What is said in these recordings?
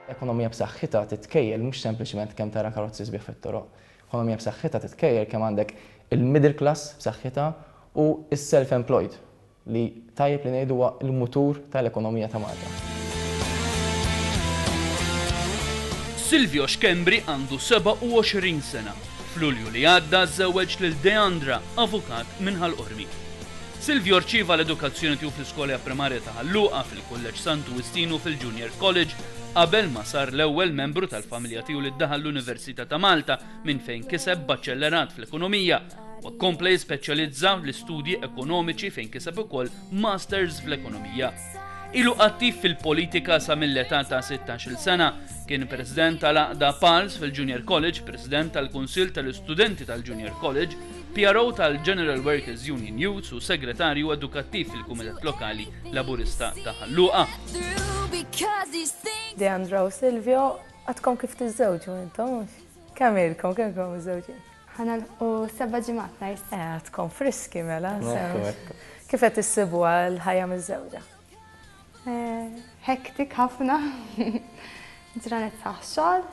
Ekonomija b'saħħitha titkejjel mhux sempliċement kemm tara karozzi sbieħ fit-toroq. Ekonomija b'saħħitha titkejjel kemm għandek il-middle class b'saħħitha u s-self-employed li tajjeb li ngħidu huwa l-mutur tal-ekonomija ta' Malta. Silvio Schembri għandu 27 sena. F'Lulju li għadda żżewweġ lil Deandra, avukat minn Ħal Qormi. Silvio rċieva l-edukazzjoni tiegħu fl-iskola primarja ta' Ħal Luqa, fil-Kulleġġ Santu Wistin u fil-Junior College, qabel ma sar l-ewwel membru tal-familja tiegħu li daħal l-Università ta' Malta minn fejn kiseb Baċellerat fl-Ekonomija. Huwa kompla jispeċjalizza l-istudji ekonomiċi fejn kiseb ukoll Masters fl-Ekonomija. Ilu attiv fil-politika sa mill-età ta' 16-il sena. Kien President tal-Għaqda PALS fil-Junior College, President tal-Kunsill tal-Istudenti tal-Junior College, PRO tal-General Workers Union Youths u Segretarju Edukattiv fil-Kumitat Lokali Laburista ta' Ħal Luqa. Deandra u Silvio, għadkom kif tiżżewġu intom, mhux? Kemm ilkom, kemm ilkom miżżewġin? Ħa nagħlqu seba' ġimgħat nhar is-Sibt. Eh, għadkom friski mela. Kif qed issibuha l-ħajja miżżewġa? Eh, hektik ħafna. Ġranet saħ xogħol,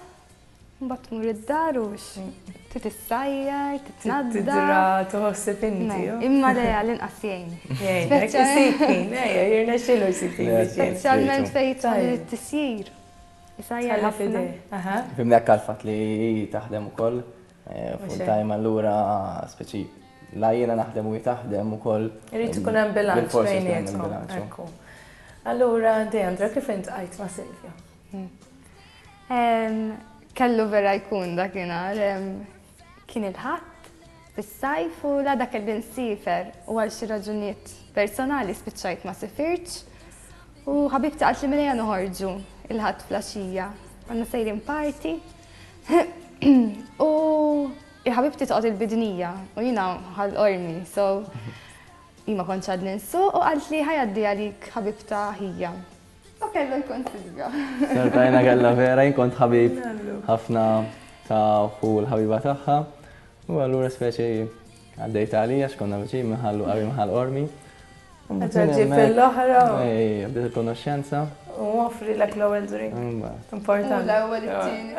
Mbagħad tmur id-dar u trid issajjar, titnaddaf. Tidra, tħossib inti. Imma le għall-inqas jgħin. Jgħin, isib ħin, ejja, jirnexxielu jsib ħin biex jgħin. Speċjalment fejn jidħol it-tisjir. Isajjar ħafna. Fimni hekk għall-fatt li hi taħdem ukoll eh, full time allura speċi la jiena naħdem u hi taħdem ukoll. Irid ikun hemm bilanċ bejnietkom. Allura, Deandra, kif intqajt ma' Silvia? Hmm. Kellu vera jkun dakinhar. Kien il-Ħadd fis-sajf u l-għada kelli nsifer u għal xi raġunijiet personali spiċċajt ma sifirtx u ħabibti qaltli mela ejja noħorġu il-Ħadd flaxija. Konna sejrin party u ħabibti toqgħod il-Bidnija u jiena Ħal Qormi, so jien ma kontx għadni nsuq u qaltli ħa jgħaddi għalik ħabibta ħija. U kellu jkun Silvio. Sortajna kella vera, jien kont ħabib ħafna ta' ħu l-ħabiba tagħha. U allura speċi għaddejt għalija x'konna viċin minħallu qabel minħal qormi. Meta ġib l-oħra. Ej, bdiet il-konoxxenza. U offri l l-ewwel drink. Importanti. L-ewwel it-tieni.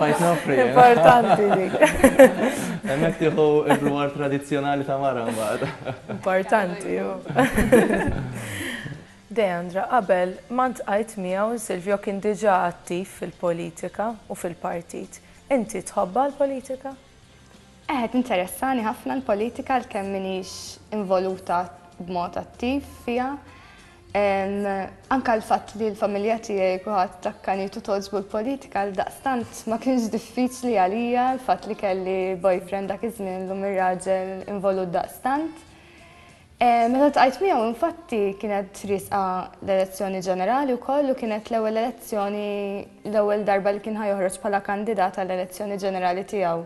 Fajt noffri. Importanti dik. Hemmhekk tieħu r-rwar tradizzjonali ta' mara mbagħad. Importanti. Deandra, qabel ma ltqajt miegħu Silvio kien diġà attiv fil-politika u fil-partit. Inti tħobbha l-politika? Eħe, tinteressani ħafna l-politika għalkemm m'iniex involuta b'mod attiv fiha. Anke l-fatt li l-familja tiegħi kulħadd akkanit u togħġbu l-politika għaldaqstant ma kienx diffiċli għalija l-fatt li kelli boyfriend dak iż-żmien illum ir-raġel involut daqstant. Meta ltqajt miegħu infatti kienet riesqa l-elezzjoni ġenerali wkoll u kienet l-ewwel elezzjoni l-ewwel darba li kien ħa joħroġ bħala kandidat għall-elezzjoni ġenerali tiegħu.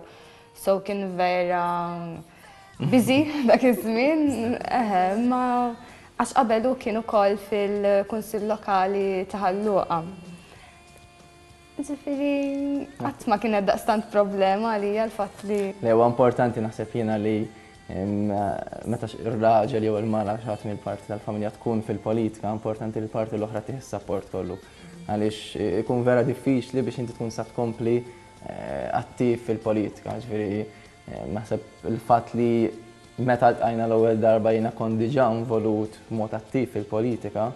So kien vera busy dak iż-żmien, eħe, imma għax qabel hu kien ukoll fil-Kunsill Lokali ta' Ħal Luqa. Ġifieri qatt ma kienet daqstant problema għalija l-fatt li. Le huwa importanti naħseb jiena li meta r-raġel jew il-mara xi ħadd mill-parti tal-familja tkun fil-politika, importanti li l-parti l-oħra tih is-sapport kollu. Għaliex ikun vera diffiċli biex inti tkun sa tkompli eh, attiv fil-politika. Ġifieri naħseb il-fatt li meta ltqajna l-ewwel darba jiena kont diġà involut b'mod attiv fil-politika,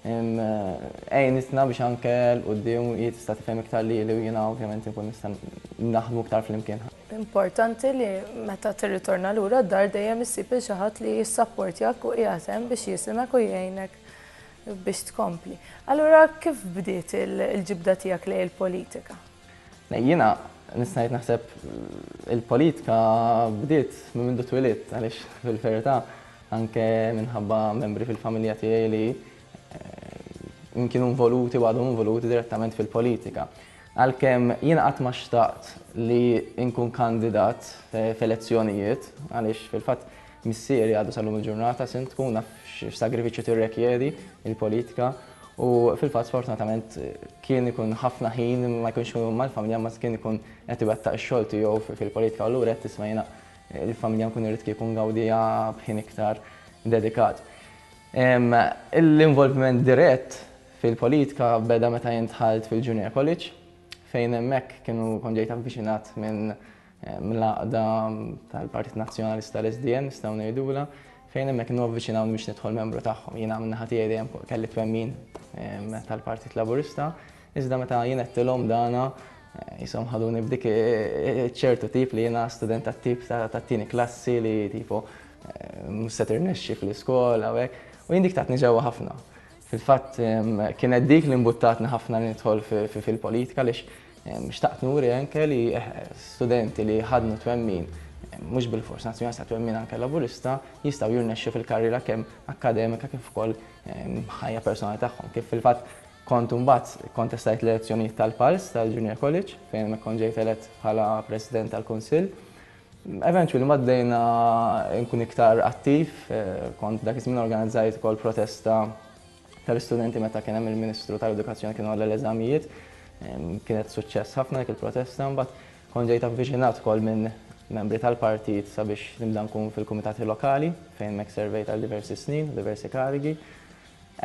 Għinitna biex anke 'l quddiem hi tista' tifhem iktar lili u jiena ovvjament inkun nista' naħdmu iktar flimkien. Importanti li meta tirritorna lura d-dar dejjem issib lil xi ħadd li jissapportjak u qiegħed hemm biex jisimgħek u jgħinek biex tkompli. Allura kif bdiet il-ġibda tiegħek lejn il-politika? Jiena nista' ngħid naħseb il-politika bdiet minn mindu twilidt għaliex fil-verità anke minħabba membri fil-familja tiegħi li eh, kienu involuti u għadhom involuti direttament fil-politika. Għalkemm jiena qatt ma xtaqt li nkun kandidat f'elezzjonijiet, għaliex fil-fatt missieri għadu sal-lum il-ġurnata sindku, naf x'sagrifiċċju tirrekjedi il-politika u fil-fatt sfortunatament kien ikun ħafna ħin ma jkunx mal-familja ma kien ikun qed iwettaq ix-xogħol tiegħu fil-politika u allura qed tisma' jiena il-familja nkun irrid kieku ngawdiha b'ħin iktar dedikat. L-involviment dirett fil-politika beda meta jien dħalt fil-Junior College fejn hemmhekk kienu kont ġejt avviċinat minn l-għaqda tal-Partit Nazzjonalista l-SDN nistgħu ngħidulha fejn hemmhekk kienu avviċinawni biex nidħol membru tagħhom. Jiena min-naħa tiegħi dejjem kelli twemmin tal-Partit Laburista, iżda meta jien għedtilhom dana jisom ħaduni b'dik ċertu tip li jiena student tat-tip tat-tieni klassi li tipo mhux se tirnexxi fl-iskola u hekk. U jien dik tatni ġewwa ħafna. Fil-fatt kienet dik li mbuttatni ħafna li nidħol fil-politika għaliex xtaqt nuri anke li studenti li ħadnu twemmin mhux bilfors nazzjonalista twemmin anke laburista jistgħu jirnexxu fil-karriera kemm akkademika kif ukoll ħajja personali tagħhom. Kif fil-fatt kont imbagħad kontestajt l-elezzjonijiet tal-Pals tal-Junior College fejn hemmhekk kont ġejt elett bħala President tal-Kunsill. Eventually mbagħad bdejna nkun iktar attiv, kont dak iż-żmien organizzajt ukoll protesta tal-istudenti meta kien hemm il-Ministru tal-Edukazzjoni kienu għal l-eżamijiet. Kienet suċċess ħafna dik il-protesta, mbagħad kont ġejt avviċinat ukoll minn membri tal-partit sabiex nibda nkun fil-kumitati lokali fejn hemmhekk servejt għal diversi snin, diversi karigi.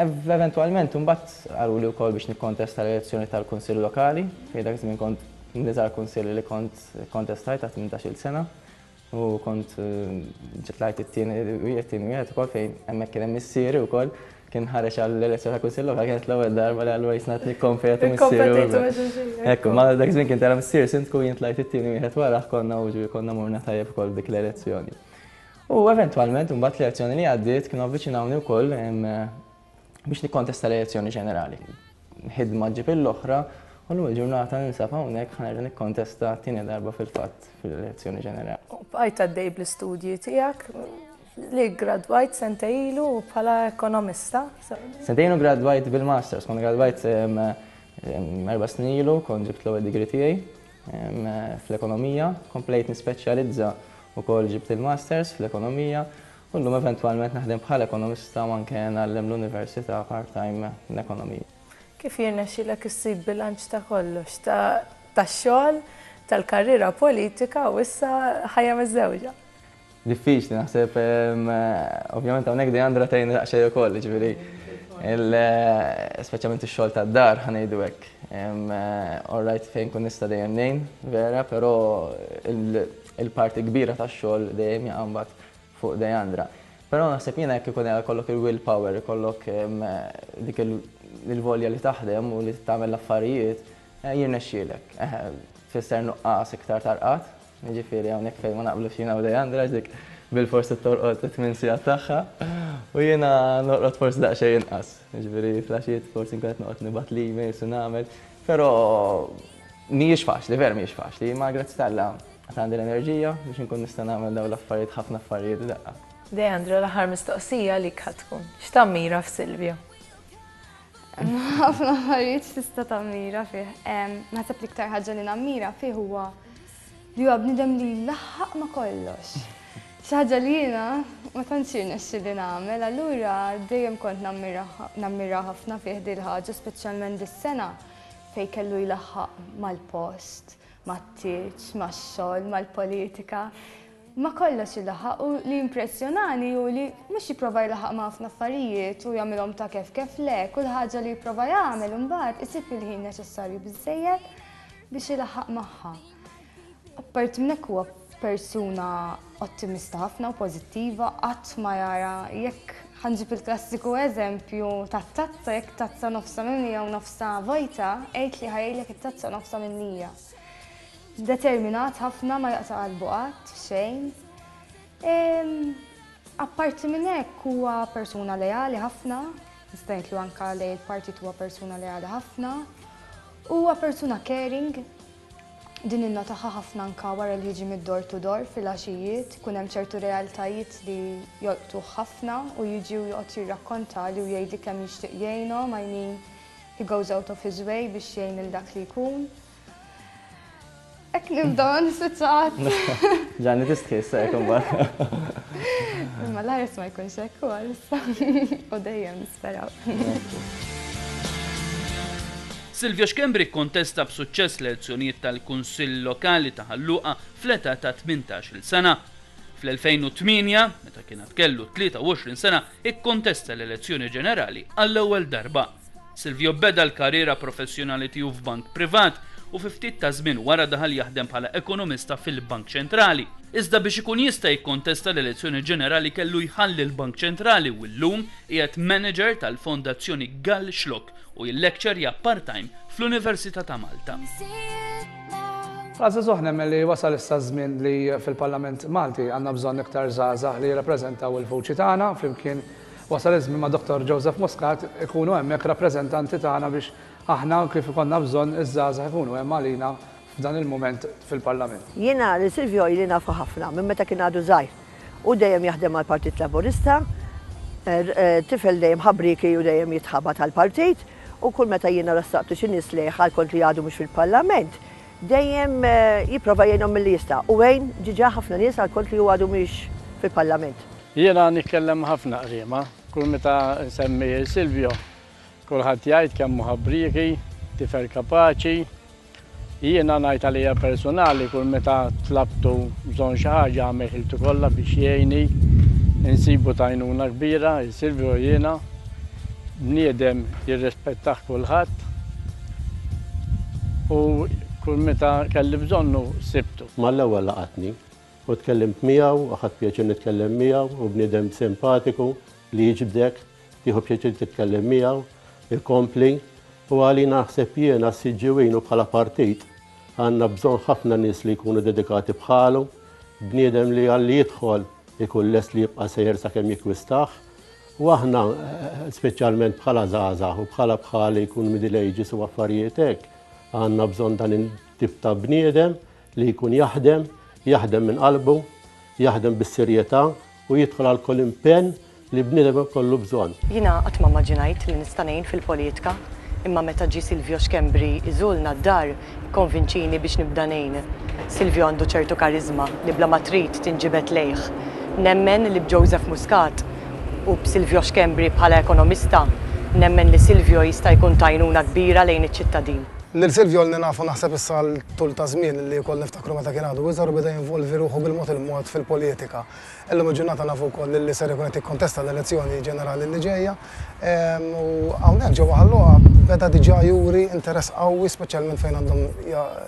Eventwalment imbagħad qaluli wkoll biex nikkontesta l-elezzjoni tal-Kunsill Lokali, fejn dak iż-żmien kont l-iżgħar kunsill li kont kkontestajt ta' 18-il sena u kont tlajt it-tieni wieħed tieni wieħed ukoll fejn hemmhekk kien hemm missieri wkoll kien ħareġ għall-elezzjoni tal-Kunsill Lokali kienet l-ewwel darba li allura jisna qed nikkompetu missieri. Ekku, ma dak iż-żmien kien tela' missieri sindku jien tlajt it-tieni wieħed warah konna u konna morna tajjeb ukoll dik l-elezzjoni. U eventwalment imbagħad l-elezzjoni li għaddiet kienu avviċinawni wkoll biex nikkontesta l-elezzjoni ġenerali. Ħidma ġġib l-oħra u llum il-ġurnata ninsab hawnhekk ħa nerġa' nikkontesta t-tieni darba fil-fatt fil-elezzjoni ġenerali. U bqajt għaddej bl-istudji tiegħek li ggradwajt sentejn ilu bħala ekonomista. Sentejn ilu ggradwajt bil-masters, kont gradwajt erba' snin ilu, kont ġibt l-ewwel degree tiegħi. Fl-ekonomija, komplejt nispeċjalizza wkoll ġibt il-masters fl-ekonomija u llum eventwalment naħdem bħala ekonomista u anke ngħallem l-università part-time l-ekonomija. Kif jirnexxilek issib bilanċ ta' kollox, tax-xogħol, tal-karriera politika u issa ħajja miżżewġa? Diffiċli naħseb, ovvjament hawnhekk Deandra tgħinni daqsxejn ukoll, jiġifieri speċjalment ix-xogħol tad-dar ħa ngħidu hekk. All right fejn nkun nista' dejjem ngħin, vera, però il-parti kbira tax-xogħol dejjem jaqa' mbagħad fuq Deandra. Però naħseb jiena jekk ikun ikollok il-will power, ikollok dik il-volja li taħdem u li tagħmel l-affarijiet, jirnexxielek. Tfisser nuqqas iktar tarqad, Jiġifieri hawnhekk fejn ma naqblux jiena u Leandra għax dik bilfors trid torqod it-tmien sigħat tagħha u jiena norqod forsi daqsxejn inqas. Jiġifieri fl-għaxijiet forsi nkun qed noqgħod nibgħat l-emails u nagħmel, però mhijiex faċli, vera mhijiex faċli, imma grazzi t'Alla għad għandi l-enerġija biex inkun nista' nagħmel dawn l-affarijiet ħafna affarijiet f'daqqa. Leandra, l-aħħar mistoqsija għalik ħa tkun. X'tammira f'Silvio? Ħafna affarijiet x'tista' tammira fih. Naħseb l-iktar ħaġa li nammira fih huwa li huwa bniedem li jlaħħaq ma' kollox. Xi ħaġa li jiena ma tantx irnexxieli nagħmel, allura dejjem kont nammira ħafna fih din il-ħaġa, speċjalment dis-sena fejn kellu jlaħħaq mal-post, mat-tieġ, max-xogħol, mal-politika. Ma' kollox ilaħħaq u li jimpressjonani hu li mhux jipprova jlaħħaq ma' ħafna affarijiet u jagħmilhom ta' kef kef le, kull ħaġa li jipprova jagħmel imbagħad isib il-ħin neċessarju biżżejjed biex ilaħħaq magħha. Apparti minn hekk huwa persuna ottimista ħafna u pożittiva, qatt ma jara jekk ħanġib il-klassiku eżempju tat-tazza, jekk tazza nofsha mimlija u nofsha vojta, għid li ħajjlek it-tazza nofsha mimlija. Determinat ħafna ma jaqta' qalbu qatt f'xejn. Apparti minn hekk huwa persuna leali ħafna, nista' ngħid li anke lejn il-partit huwa persuna leali ħafna. Huwa persuna caring, din innotaha ħafna anke wara li jiġi mid-door to door fil-għaxijiet, ikun hemm ċertu realtajiet li jolqtuh ħafna u jiġi u joqgħod jirrakkontali u jgħidli kemm jixtieq jgħinhom, I mean he goes out of his way biex jgħin lil dak li jkun. Hekk nibda nispiċċa Ġanni tistħi issa hekk imbagħad. Imma l-ħares ma jkunx hekk u għalissa u dejjem nisperaw. Silvio Schembri kkontesta b'suċċess l-elezzjonijiet tal-Kunsill Lokali ta' Ħal Luqa fl-età ta' 18-il sena. Fl-2008, meta kien għad kellu 23 sena, ikkontesta l-elezzjoni ġenerali għall-ewwel darba. Silvio beda l-karriera professjonali tiegħu f'bank privat u fi ftit ta' żmien wara daħal jaħdem bħala ekonomista fil-Bank Ċentrali. Iżda biex ikun jista' jikkontesta l-elezzjoni ġenerali kellu jħalli l-Bank Ċentrali u llum qiegħed manager tal-Fondazzjoni Gall Xlokk u jillekċerja part-time fl-Università ta' Malta. Bħala żagħżugħ nemmen li wasal issa ż-żmien li fil-Parlament Malti għandna bżonn iktar żgħażagħ li jirrappreżentaw il-vuċi tagħna flimkien wasal iż-żmien ma' Dottor Joseph Muscat ikunu hemmhekk rappreżentanti tagħna biex aħna kif ikollna bżonn iż-żgħażagħ ikunu hemm għalina f'dan il-mument fil-Parlament. Jiena lil Silvio ili nafu ħafna minn meta kien għadu żgħir. Hu dejjem jaħdem għall-Partit Laburista, tifel dejjem ħabrieki u dejjem jitħabat għall-partit u kull meta jiena ressaqtu xi nies lejh għal kont li għadu mhux fil-Parlament, dejjem jipprova jgħinhom milli jista' u għin ġiġa ħafna nies għal kont li hu għadu mhux fil-Parlament. Jiena nitkellem ma' ħafna qriema, kull meta nsemmi lil Silvio, kulħadd jgħid kemm hu ħabrieki, tifel kapaċi, Jiena ngħid għalija personali kull meta tlabtu bżonn xi ħaġa għamel ħiltu kollha biex jgħinni, insibu t'għajnuna kbira, Silvio jiena, bniedem jirrispettah kulħadd u kull meta kelli bżonnu sibtu. Mal-ewwel laqatni u tkellimt miegħu u ħadt pjaċir nitkellem miegħu, hu bniedem simpatiku li jiġbdek. Tieħu pjaċir titkellem miegħu, ikompli, u għalina naħseb jiena s-Siġġiwin u bħala partit għandna bżonn ħafna nies li jkunu dedikati bħalu, bniedem li għalli jidħol ikun lest li jibqa' sejjer sakemm jikkwistah. U aħna, speċjalment bħala żgħażagħ u bħala bħali jkun middle ages u affarijiet hekk, għandna bżonn dan it-tip ta' bniedem li jkun jaħdem, jaħdem minn qalbu, jaħdem bis-serjetà u jidħol għal kull impenn li bniedem ikollu bżonn. Jiena qatt ma mmaġinajt li nista' ngħin fil-politka, imma meta ġie Silvio Schembri jżurna d-dar ikkonvinċini biex nibda ngħin. Silvio għandu ċertu kariżma li bla ma trid tinġibed lejh. Nemmen li b'Joseph Muscat u b'Silvio Schembri bħala ekonomista, nemmen li Silvio jista' jkun t'għajnuna kbira lejn iċ-ċittadin. Lil Silvio ilni nafu naħseb issa għal tul ta' żmien li wkoll niftakru meta kien għadu iżgħar u beda jinvolvi ruħu bil-mod il-mod fil-politika. Illum il-ġurnata nafu wkoll li ser ikun qed jikkontesta l-elezzjoni ġenerali li ġejja. U hawnhekk ġewwa Ħal Luqa beda diġà juri interess qawwi speċjalment fejn għandhom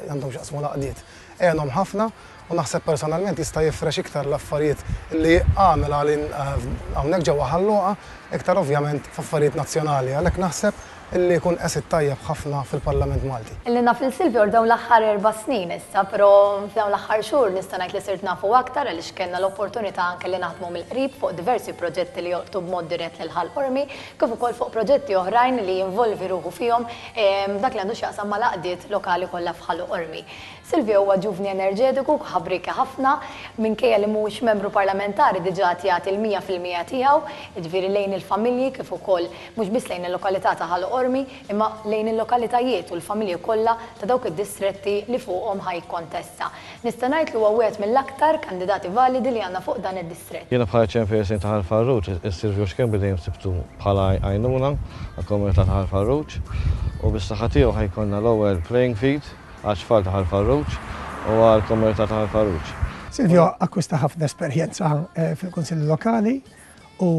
għandhom x'jaqsmu l-għaqdiet. Għenhom ħafna u naħseb personalment jista' jifrex iktar l-affarijiet li għamel għalin hawnhekk ġewwa Ħal Luqa, iktar ovvjament f'affarijiet nazzjonali. Għalhekk naħseb Illi jkun asset tajjeb ħafna fil-Parlament Malti. Illi naf lil Silvio għal dawn l-aħħar 4 snin issa, però f'dawn l-aħħar xhur nista' ngħid li sirt nafu aktar għaliex kellna l-opportunità anke li naħdmu mill-qrib fuq diversi proġetti li jolqtu b'mod dirett lil Ħal Qormi, kif ukoll fuq proġetti oħrajn li jinvolvi ruħu fihom f'dak li għandu x'jaqsam mal-għaqdiet lokali kollha f'Ħal Qormi. Silvio huwa ġuvni enerġetiku, ħabrieki ħafna, minkejja li mhuwiex membru parlamentari diġà qed jagħti l-100% tiegħu, jiġifieri lejn il-familji kif ukoll mhux biss lejn il-lokalità ta' Ħal Qormi, imma lejn il-lokalitajiet u l-familji kollha ta' dawk id-distretti li fuqhom ħa jikkontesta. Nista' ngħid li huwa wieħed mill-aktar kandidati validi li għandna fuq dan id-distrett. Jiena bħala Chairperson ta' Ħal Farruġ, is-Silvio Schembri dejjem sibtu bħala għajnuna għall-komunità ta' Ħal Farruġ u bis-saħħa tiegħu ħa jkollna l-ewwel playing field għat-tfal ta' Ħal Farruġ u għall-komunità ta' Ħal Farruġ. Silvio akkwista ħafna esperjenza fil-Kunsilli Lokali u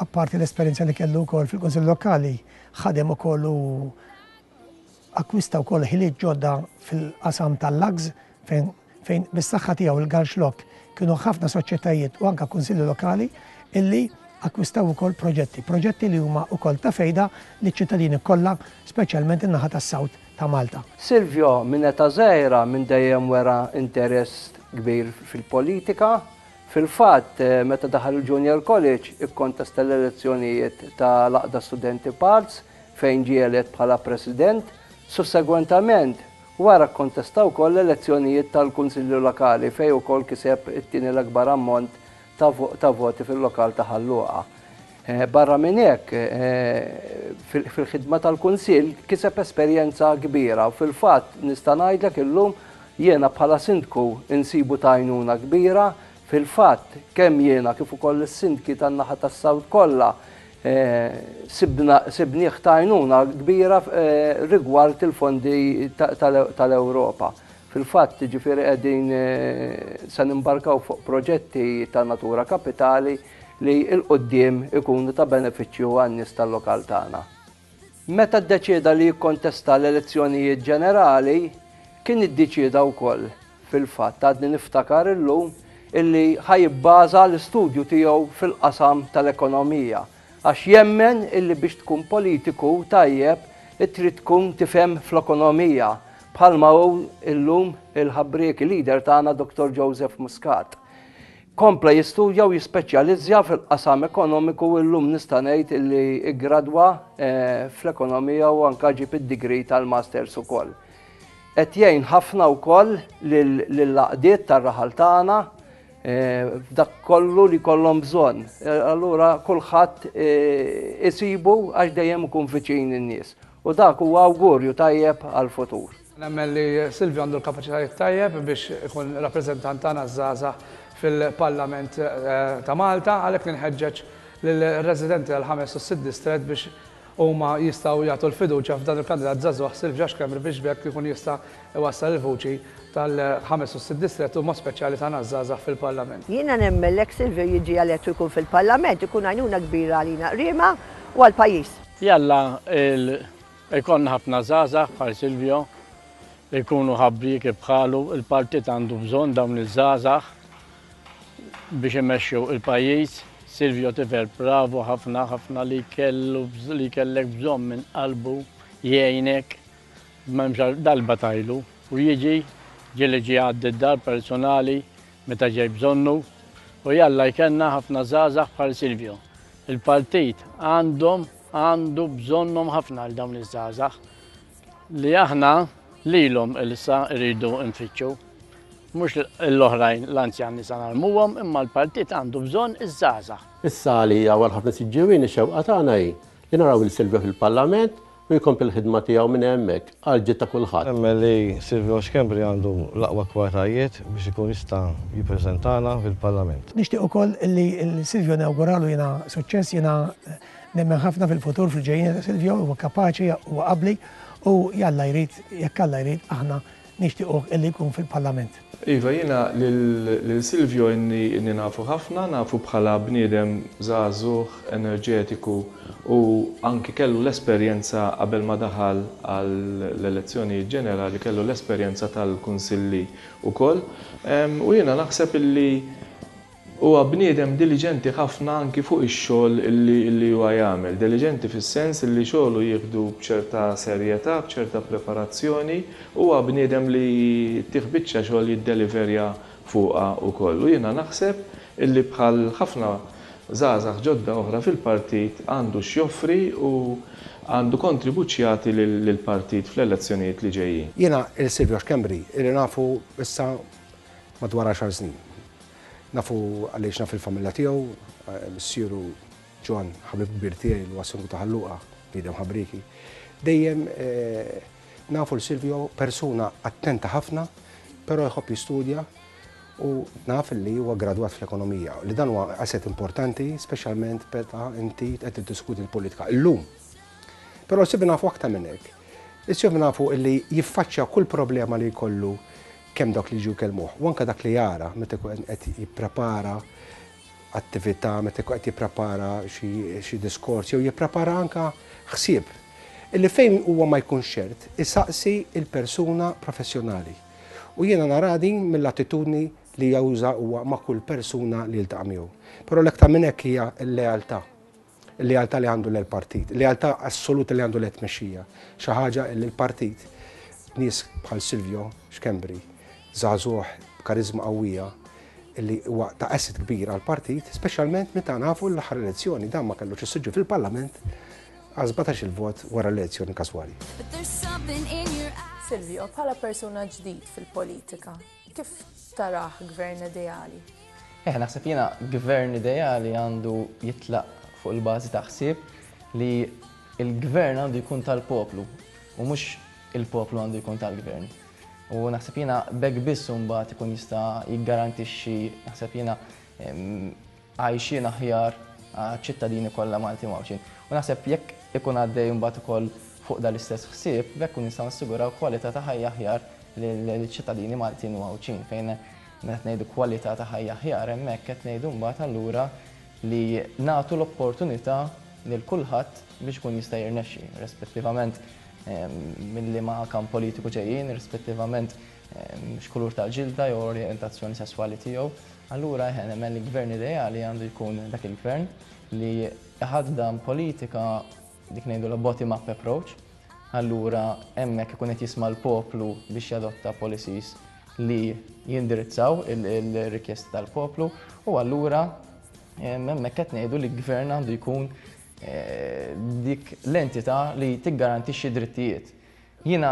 apparti l-esperjenza li kellu wkoll fil-Kunsill Lokali ħadem ukoll u akkwista wkoll ħiliet ġodda fil-qasam tal-lags fejn fejn bis-saħħa tiegħu il-Galxlok kienu ħafna soċjetajiet u anka kunsilli lokali illi akkwistaw ukoll proġetti, proġetti li huma wkoll ta' fejda liċ-ċittadini kollha, speċjalment in-naħa tas-South ta' Malta. Silvio minn età żgħira minn dejjem wera interess kbir fil-politika. Fil-fatt, meta daħal il-Junior College ikkontesta l-elezzjonijiet ta' l-Għaqda Studenti Parts fejn ġie elett bħala President. Sussegwentament, wara kkontesta wkoll l-elezzjonijiet tal-Kunsilli Lokali fejn ukoll kiseb it-tieni l-akbar ammont ta' voti fil-lokal ta' Ħal Luqa. Barra minn hekk, fil-ħidma tal-Kunsill kiseb esperjenza kbira u fil-fatt nista' ngħidlek illum Jiena bħala Sindku nsibu ta' għajnuna kbira. Fil-fatt, kemm jiena kif ukoll is-Sindki tan-naħa tas-South kollha sibna sibnieh ta' għajnuna kbira rigward il-fondi tal-Ewropa. Fil-fatt, jiġifieri qegħdin se nimbarkaw fuq proġetti ta' natura kapitali li 'l quddiem ikunu ta' benefiċċju għan-nies tal-lokal tagħna. Meta ddeċieda li jikkontesta l-elezzjonijiet ġenerali, kien iddiċieda wkoll, fil-fatt għadni niftakar illum, illi ħa jibbaża l-istudju tiegħu fil-qasam tal-ekonomija, għax jemmen illi biex tkun politiku tajjeb trid tkun tifhem fl-ekonomija, bħalma hu illum il-ħabrieki leader tagħna Dottor Joseph Muscat. Kompla jistudja u jispeċjalizzja fil-qasam ekonomiku u llum nista' ngħid illi ggradwa fl-ekonomija u anke ġieb id-degree tal-Masters ukoll. Qed jgħin ħafna wkoll lill-għaqdiet tar-raħal tagħna f'dak kollu li jkollhom bżonn. Allura kulħadd isibu għax dejjem ikun viċin in-nies. U dak huwa awgurju tajjeb għall-futur. Nemmen li Silvio għandu l-kapaċitajiet tajjeb biex ikun rappreżentant tagħna ż-żgħażagħ fil-Parlament ta' Malta, għalhekk ninħeġġeġ lir-residenti tal-ħames u s-sitt distrett biex huma jistgħu jagħtu l-fiduċja f'dan il-kandidat żagħżugħ Silvio Schembri biex b'hekk ikun jista' iwassal il-vuċi tal-ħames u s-sitt distrett u b'mod speċjali tagħna ż-żgħażagħ fil-Parlament. Jiena nemmen li jekk Silvio jiġi elett u jkun fil-Parlament ikun għajnuna kbira għalina Qriema u għall-pajjiż. Jalla Ikollna ħafna żgħażagħ bħal Silvio, li jkunu ħabbrieki bħalu, il-partit għandu bżonn dawn iż-żgħażagħ biex imexxu il-pajjiż. Silvio tifel bravu ħafna ħafna li kellu li kellek bżonn minn qalbu jgħinek m'hemmx darba tajlu u jiġi ġieli ġie għaddi d-dar personali meta ġej bżonnu u jalla jkellna ħafna żgħażagħ bħal Silvio. Il-partit għandhom Għandu bżonnhom ħafna għal dawn iż-żgħażagħ li aħna lilhom issa rridu nfittxu. Mhux l-oħrajn l-anzjani sa narmuhom imma l-partit għandu bżonn iż-żgħażagħ. Issa għalija u għal ħafna Siġġiewin ix-xewqa tagħna hi li naraw lil Silvio fil-Parlament u jkompli l-ħidma tiegħu minn hemmhekk għall-ġid ta' kulħadd. Nemmen li Silvio Schembri għandu l-aqwa kwalitajiet biex ikun jista' jippreżentana fil-Parlament. Nixtieq ukoll li lil Silvio nawguralu jiena suċċess, jiena nemmen ħafna fil-futur fil-ġejjieni ta' Silvio, huwa kapaċi, huwa abbli u jalla jrid, jekk Alla jrid aħna nixtiequh illi jkun fil-Parlament. Iva, jiena lil Silvio inni inni nafu ħafna, nafu bħala bniedem żagħżugħ, enerġetiku u anki kellu l-esperjenza qabel ma daħal għall-elezzjonijiet ġenerali kellu l-esperjenza tal-kunsilli wkoll. U jiena naħseb illi Huwa bniedem diliġenti ħafna anki fuq ix-xogħol illi illi huwa jagħmel. Diliġenti fis-sens illi xogħlu jieħdu b'ċerta serjetà, b'ċerta preparazzjoni. Huwa bniedem li ttih biċċa xogħol jiddeliverja fuqha wkoll. U jiena naħseb illi bħal ħafna żgħażagħ ġodda oħra fil-partit għandu x'joffri u għandu kontribut x'jagħti lill-partit fl-elezzjonijiet li ġejjin. Jiena 'l Silvio Schembri ili nafu issa madwar għaxar snin. Nafu għaliex naf il-familja tiegħu, missieru John, ħabib kbir tiegħi li huwa Sindku ta' Ħal Luqa, bniedem ħabrieki. Dejjem nafu 'l Silvio persuna attenta ħafna, però jħobb jistudja u naf li huwa gradwat fl-ekonomija, li dan huwa asset importanti speċjalment meta inti qed tiddiskuti l-politika illum. Però Silvio nafu aktar minn hekk. Silvio nafu li jiffaċċja kull problema li jkollu kemm dawk li jiġu jkellmuh u anke dak li jara meta jkun qed jipprepara attività, meta jkun qed jipprepara xi diskors jew jipprepara anke ħsieb illi fejn huwa ma jkunx ċert isaqsi l-persuna professjonali. U jiena naraha din mill-attitudni li juża huwa ma' kull persuna li jiltaqa' miegħu. Però l-aktar minn hekk hija l-lealtà. Il-lealtà li għandu lejn-partit, il-lealtà assoluta li għandu lejn tmexxija. Xi ħaġa li l-partit nies bħal Silvio Schembri, żagħżugħ b'kariżma qawwija, li huwa ta' asset kbir għall-partit, speċjalment meta nafu l-aħħar elezzjoni dan ma kellux is-siġġu fil-Parlament għal 17-il vot wara l-elezzjoni każwali. Silvio, bħala persuna ġdid fil-politika, kif tarah gvern ideali? Eh, naħseb jiena gvern ideali għandu jitlaq fuq il-bażi ta' ħsieb li l-gvern għandu jkun tal-poplu u mhux il-poplu għandu jkun tal-gvern. U naħseb jiena b'hekk biss imbagħad ikun jista' jiggarantixxi naħseb jiena għajxien aħjar għaċ-ċittadini kollha Maltin u Għawdxin. U naħseb jekk ikun għaddej imbagħad ukoll fuq dan l-istess ħsieb, b'hekk nkunu nistgħu nassiguraw kwalità ta' ħajja aħjar lill-ċittadini Maltin u Għawdxin fejn meta qed ngħidu kwalità ta' ħajja aħjar hemmhekk qed ngħidu mbagħad allura li nagħtu l-opportunità lil kulħadd biex ikun jista' jirnexxi, rispettivament minn liema kamp politiku ġejjin, rispettivament x'kulur tal-ġilda jew orjentazzjoni sesswali tiegħu. Allura eħe nemmen li gvern ideali għandu jkun dak il-gvern li iħaddan politika dik ngħidulha bottom up approach. Allura hemmhekk ikun qed jisma' l-poplu biex jadotta policies li jindirizzaw il-rikjesti tal-poplu u allura hemmhekk qed ngħidu li gvern għandu jkun dik l-entità li tiggarantixxi drittijiet. Jiena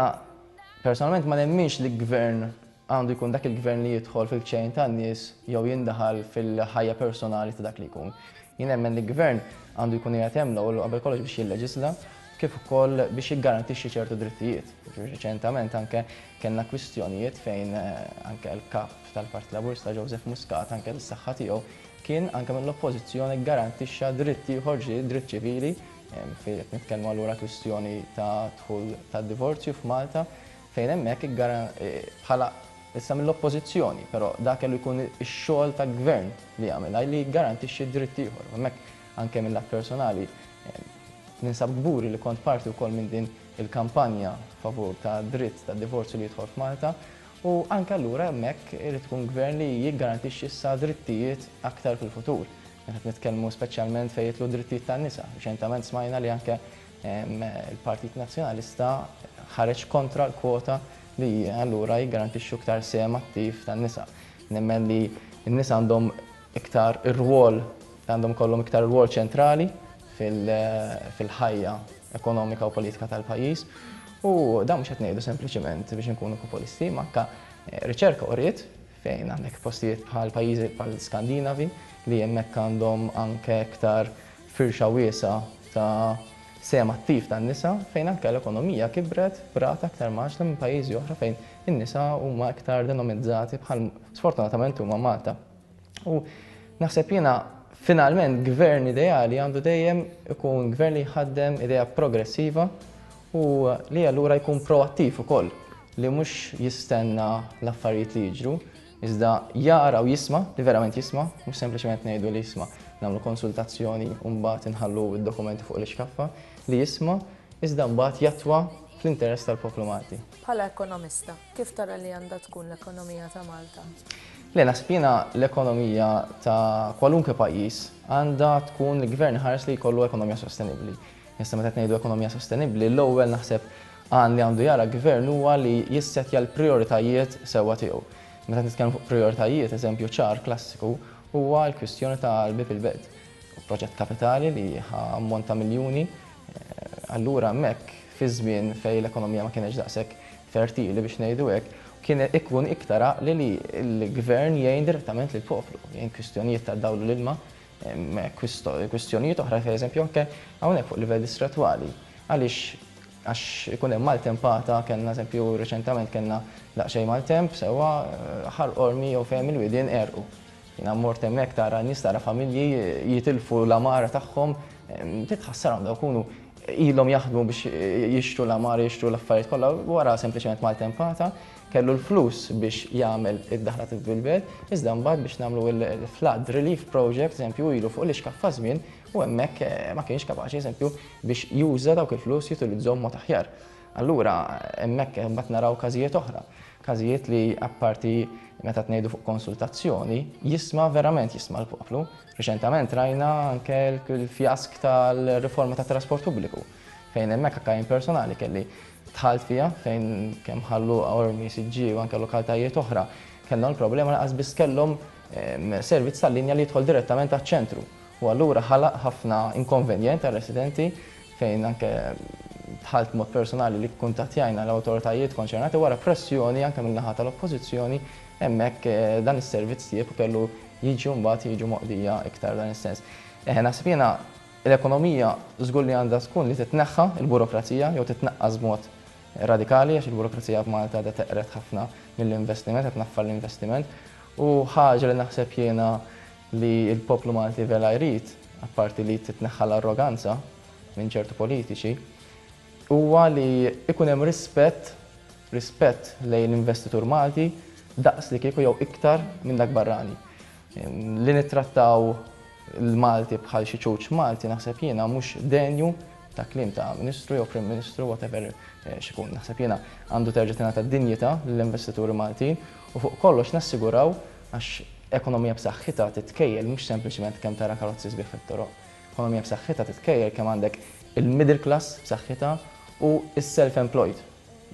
personalment ma nemminx li gvern għandu jkun dak il-gvern li jidħol fil-ċejn tan-nies jew jindaħal fil-ħajja personali ta' dak li jkun. Jien nemmen li gvern għandu jkun qiegħed hemm l-ewwel u qabel kollox biex jilleġisla kif ukoll biex jiggarantixxi ċertu drittijiet. Riċentament anke kellna kwistjonijiet fejn anke l-Kap tal-Partit Laburista Joseph Muscat anke bis-saħħa tiegħu kien anke mill-Oppożizzjoni ggarantixxa dritt ieħor ġdid, dritt ċivili, fejn qed nitkellmu allura kwistjoni ta' dħul tad-divorzju f'Malta, fejn hemmhekk bħala issa mill-Oppożizzjoni, però dak kellu jkun ix-xogħol ta' gvern li jagħmilha li jiggarantixxi dritt ieħor. Hemmhekk anke mill-lat personali ninsab kburi li kont parti wkoll minn din il-kampanja favur ta' dritt tad-divorzju li jidħol f'Malta U anke allura hemmhekk irid ikun gvern li jiggarantixxi issa drittijiet aktar fil-futur. Meta qed nitkellmu speċjalment fejn jidħlu d-drittijiet tan-nisa. Riċentament smajna li anke l-Partit Nazzjonalista ħareġ kontra l-kwota li allura jiggarantixxu iktar sehem attiv tan-nisa. Nemmen li n-nisa għandhom iktar ir-rwol, għandhom ikollhom iktar rwol ċentrali fil-ħajja ekonomika u politika tal-pajjiż. U dan mhux qed ngħidu sempliċement biex inkunu populisti, ma anke riċerka uriet fejn għandek postijiet bħal pajjiżi bħal Skandinavi li hemmhekk għandhom anke iktar firxa wiesgħa ta' sehem attiv tan-nisa fejn anke l-ekonomija kibret b'rata aktar mgħaġġla minn pajjiżi oħra fejn in-nisa huma iktar denomizzati bħal sfortunatament huma Malta. U naħseb jiena finalment gvern ideali għandu dejjem ikun gvern li jħaddem idea progressiva u li allura jkun proattiv ukoll li mhux jistenna l-affarijiet li jiġru, iżda jara u jisma', li verament jisma', mhux sempliċement ngħidu li jisma' nagħmlu konsultazzjoni u mbagħad inħallu d-dokumenti fuq l-ixkaffa, li jisma' iżda mbagħad jattwa fl-interess tal-poplu Malti. Bħala ekonomista, Kif tara li għandha tkun l-ekonomija ta' Malta? Le, naħseb jiena l-ekonomija ta' kwalunkwe pajjiż għandha tkun li gvern iħares li jkollu ekonomija sostenibbli. Issa meta qed ngħidu ekonomija sostenibbli, l-ewwel naħseb għan li għandu jara gvern huwa li jissettja l-prijoritajiet sewwa tiegħu. Meta nitkellmu fuq prijoritajiet, eżempju ċar klassiku huwa l-kwistjoni tal-Bieb il-Belt. Proġett kapitali li ħa ammont ta' miljuni, allura hemmhekk fi żmien fejn l-ekonomija ma kienx daqshekk fertili biex ngħidu hekk, kien ikun iktar għaqli li l-gvern jgħin direttament lill-poplu, jgħin kwistjonijiet ta' dawl u l-ilma, kwistjonijiet oħra pereżempju anke hawnhekk fuq livell distrettwali. Għaliex għax ikun hemm maltempata, kellna eżempju reċentament kellna daqsxejn maltemp sewwa Ħal Qormi jew fejn il-widien għerqu. Jiena mort hemmhekk tara nies tara familji jitilfu l-għamara tagħhom, titħassarhom dawk ikunu ilhom jaħdmu biex jixtru l-għamara, jixtru l-affarijiet kollha, wara sempliċement maltempata, kellu l-flus biex jagħmel id-daħla bil-belt, iżda mbagħad biex nagħmlu l-flood relief project, eżempju, ilu fuq l-ixkaffa żmien u hemmhekk ma kienx kapaċi, eżempju, biex juża dawk il-flus jutilizzhom mod aħjar. Allura hemmhekk imbagħad naraw każijiet oħra, każijiet li apparti meta tnejdu fuq konsultazzjoni, jisma' verament jisma' l-poplu. Riċentament rajna anke l-fjask tal-riforma tat-trasport pubbliku, fejn hemmhekk anke jien personali kelli dħalt fiha fejn kemm Ħal Luqa, Qormi, Siġġiewi u anke lokaltajiet oħra kellhom il-problema lanqas biss kellhom servizz tal-linja li jidħol direttament għaċ-ċentru. U allura ħalaq ħafna inkonvenjent għar-residenti fejn anke dħalt b'mod personali li kkuntattjajna l-awtoritajiet konċernati wara pressjoni anke min-naħa tal-Oppożizzjoni hemmhekk dan is-servizz tjieb u kellu jiġu mbagħad jiġu moqdija iktar dan is-sens. Eħe naħseb jiena l-ekonomija żgur li għandha tkun li titneħħa l-burokrazija jew titnaqqas b'mod radikali għax il-burokrazija f'Malta għadha teqred ħafna mill-investiment, qed tnaffar l-investiment. U ħaġa li naħseb jiena li l-poplu Malti vera jrid, apparti li titneħħa l-arroganza minn ċertu politiċi, huwa li jkun hemm rispett, rispett lejn l-investitur Malti daqs li kieku jew iktar minn dak barrani. Li nittrattaw l-Malti bħal xi ċuċ Malti naħseb jiena mhux denju ta' kliem ta' Ministru jew Prim Ministru whatever eh, x'ikun. Naħseb jiena għandu terġa' tingħata dinjità lill-investituri Maltin u fuq kollox nassiguraw għax ekonomija b'saħħitha titkejjel mhux sempliċement kemm tara karozzi sbieħ fit-toroq. Ekonomija b'saħħitha titkejjel kemm għandek il-middle class b'saħħitha u s-self-employed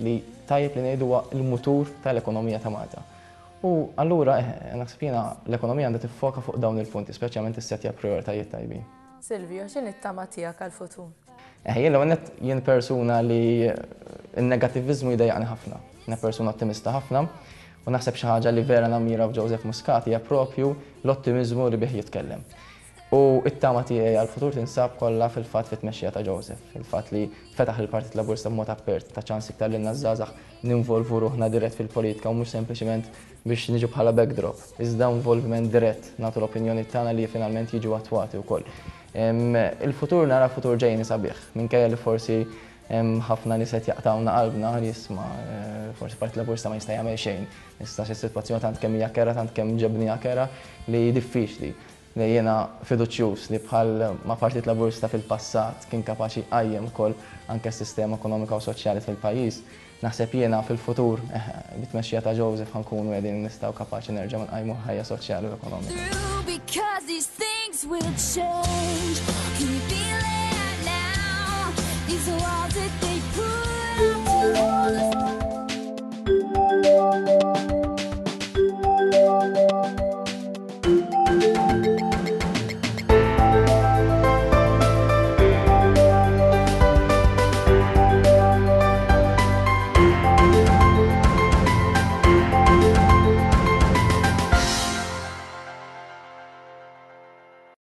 li tajjeb li ngħidu huwa l-mutur tal-ekonomija ta' Malta. U allura eh, naħseb jiena l-ekonomija għandha tiffoka fuq dawn il-punti, speċjalment issettja prijoritajiet tajbin. Silvio, x'inhi t-tama tiegħek għall-futur? Eh, jien l-ewwel nett jien persuna li n-negattiviżmu jdejjaqni ħafna. Jiena persuna ottimista ħafna u naħseb xi ħaġa li vera nammira f'Joseph Muscat hija propju l-ottimiżmu li bih jitkellem. U t-tama tiegħi għall-futur tinsab kollha fil-fatt fit-tmexxija ta' Joseph. Il-fatt li fetaħ il-Partit Laburista b'mod apert, ta ċans iktar lilna ż-żgħażagħ ninvolvu ruħna dirett fil-politika u mhux sempliċiment biex niġu bħala backdrop, iżda involviment dirett, nagħtu l-opinjoni tagħna li finalment jiġu attwati wkoll. Il-futur nara futur ġejjieni sabiħ, minkejja li forsi hemm ħafna nies qed jaqtgħulna qalbna li isma' forsi Partit Laburista ma jista' jagħmel xejn. Issa xi sitwazzjoni tant kemm hija kerha, tant kemm ġebniha kerha li diffiċli. Li jiena fiduċjuż li bħal ma Partit Laburista fil-passat kien kapaċi jqajjem ukoll anke s-sistema ekonomika u soċjali fil-pajjiż, naħseb jiena fil-futur, bit-tmexxija ta' Joseph ħa nkunu qegħdin nistgħu kapaċi nerġgħu nqajmu l-ħajja soċjali u ekonomika.